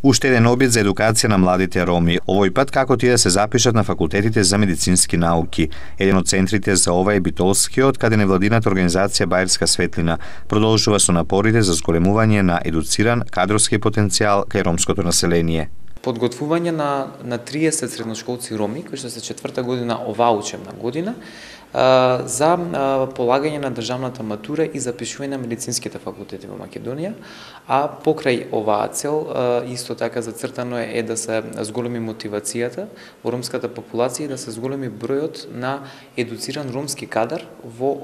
Уште еден обид за едукација на младите роми. Овој пат како тие да се запишат на факултетите за медицински науки. Еден од центрите за ова е Битолскиот, каде невладината организација Бајерска светлина продолжува со напорите за зголемување на едуциран кадровски потенцијал кај ромското население. Подготвување на 30 средношколци роми, кои што се 4-та година оваа учебна година, за полагање на државната матура и запишување на медицинските факултети во Македонија, а покрај оваа цел исто така зацртано е да се зголеми мотивацијата во ромската популација и да се зголеми бројот на едуциран ромски кадар во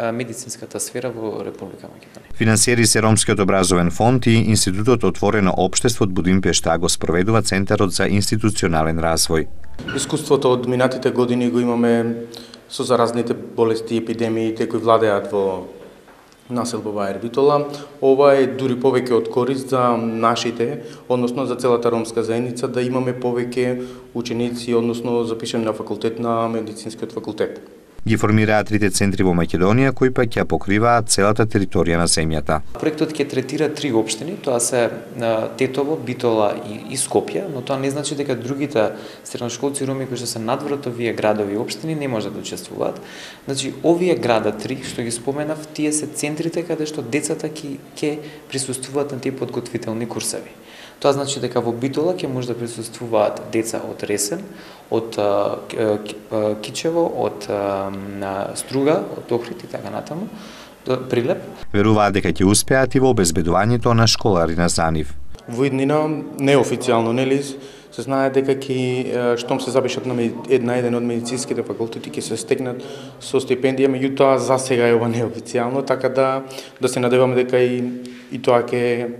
медицинската сфера во Република Македонија. Финансиери се Ромскиот образовен фонд и Институтот Отворено општество од Будимпешта, го спроведува Центарот за институционален развој. Искуството од минатите години го имаме со заразните болести и епидемиите кои владеат во населба Бајер Битола. Ова е дури повеќе од корист за нашите, односно за целата ромска заедница, да имаме повеќе ученици, односно запишани на факултет на медицинскиот факултет. Ги формираат трите центри во Македонија, кои пак ќе покриваат целата територија на земјата. Проектот ќе третира 3 општини, тоа се Тетово, Битола и Скопје, но тоа не значи дека другите средношколци роми кои што се надвор од овие градови и општини не може да учествуваат. Значи, овие града 3 што ги споменав, тие се центрите каде што децата ќе присуствуваат на тие подготвителни курсеви. Тоа значи дека во Битола ќе може да присуствуваат деца од Ресен, од Кичево, од Струга, од Охрид и така натаму, до Прилеп. Веруваат дека ќе успеат и во обезбедувањето на школари на Занив. Во иднина, неофицијално, нели, се знае дека штом се запишат на еден од медицинските факултети ќе се стекнат со стипендија, меѓутоа за сега е ова неофицијално, така да се надеваме дека и тоа ќе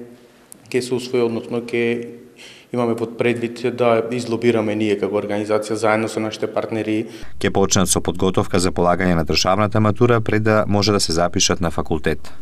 се усвои, односно ќе имаме под предвид да излобираме ние како организација заедно со нашите партнери. Ќе почнат со подготовка за полагање на државната матура пред да може да се запишат на факултет.